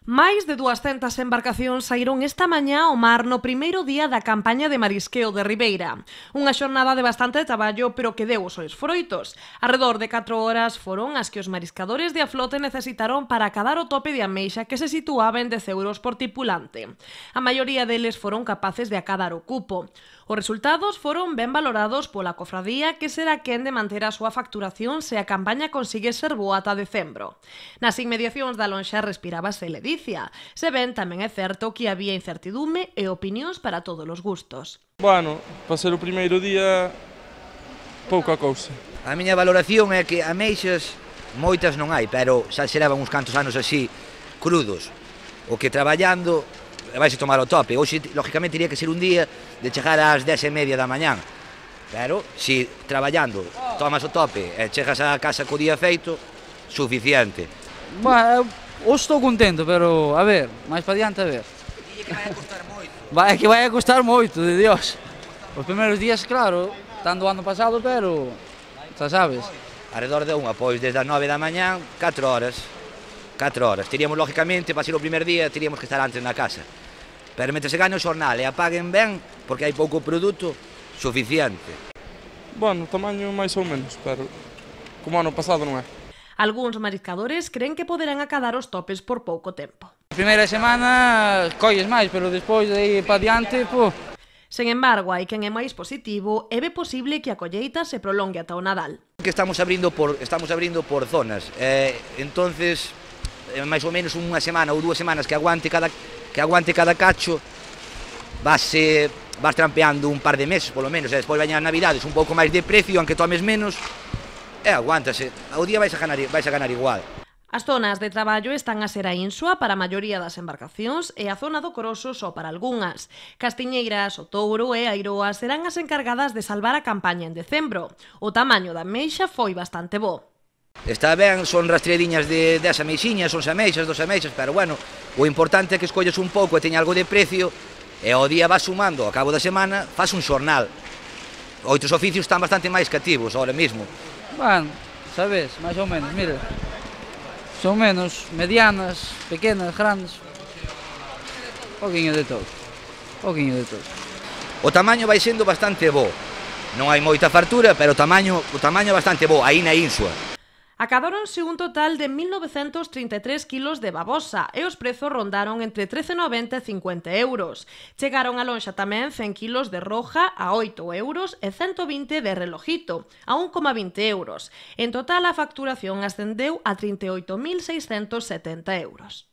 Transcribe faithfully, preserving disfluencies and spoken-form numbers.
Máis de duascentas embarcacións saíron esta mañá ao mar no primeiro día da campaña de marisqueo de Ribeira. Unha xornada de bastante traballo, pero que deu os seus froitos. Arredor de catro horas foron as que os mariscadores de Aflote necesitaron para acadar o tope de ameixa que se situaba en dez euros por tripulante. A maioría deles foron capaces de acadar o cupo. Os resultados foron ben valorados pola cofradía, que será quen de manter a súa facturación se a campaña consigue ser boa ata decembro. Nas inmediacións da lonxa respirábase ledicia. Se ben, tamén é certo que había incertidume e opinións para todos os gustos. Bueno, para ser o primeiro día, pouca cousa. A miña valoración é que ameixas moitas non hai, pero xa se levan uns cantos anos así, crudos. O que traballando vais a tomar o tope. Hoxe, lógicamente, iría que ser un día de chegar ás dez e media da mañán. Pero, se traballando tomas o tope e chegas á casa co día feito, suficiente. Bueno, eu estou contento, pero a ver, máis para diante a ver. Dille que vai a costar moito. Vai, que vai a costar moito, de Dios. Os primeiros días, claro, están do ano pasado, pero xa sabes. Arredor de unha, pois desde as nove da mañán, catro horas. catro horas. Teríamos, lógicamente, para ser o primer día, teríamos que estar antes na casa. Pero mentre se gane o xornal e apaguen ben, porque hai pouco produto, suficiente. Bueno, tamaño máis ou menos, pero como ano pasado non é. Algúns mariscadores creen que poderán acadar os topes por pouco tempo. A primeira semana colles máis, pero despois de aí para diante, pô. Sen embargo, hai quen é máis positivo e ve posible que a colleita se prolongue ata o Nadal. Que estamos abrindo por estamos abrindo por zonas. Eh, entonces, eh, máis ou menos unha semana ou dúas semanas que aguante cada que aguante cada cacho, vase vas trampeando un par de meses, polo menos, e despois veñan as Navidades un pouco máis de precio, aunque tomes menos. E aguántase, ao día vais a ganar, vais a ganar igual. As zonas de traballo están a ser a Insua para a maioría das embarcacións e a zona do Coroso só para algunhas. Castiñeiras, o Touro e Airoa serán as encargadas de salvar a campaña en decembro. O tamaño da ameixa foi bastante bo. Está ben, son rastrediñas de dez ameixiñas, son ameixas, dos ameixas, pero bueno, o importante é que escolles un pouco e teña algo de precio e ao día vas sumando, ao cabo da semana, faz un xornal. Outros oficios están bastante máis cativos ahora mesmo. Bueno, sabes, máis ou menos, mira. Son menos, medianas, pequenas, grandes. Pouquinho de todo. Pouquinho de todo. O tamaño vai sendo bastante bo. Non hai moita fartura, pero o tamaño, o tamaño é bastante bo, aí na Insua. Acadáronse un total de mil novecentos trinta e tres quilos de babosa e os prezos rondaron entre trece noventa e cincuenta euros. Chegaron a lonxa tamén cen quilos de roja a oito euros e cento vinte de relojito a un coma vinte euros. En total, a facturación ascendeu a trinta e oito mil seiscentos setenta euros.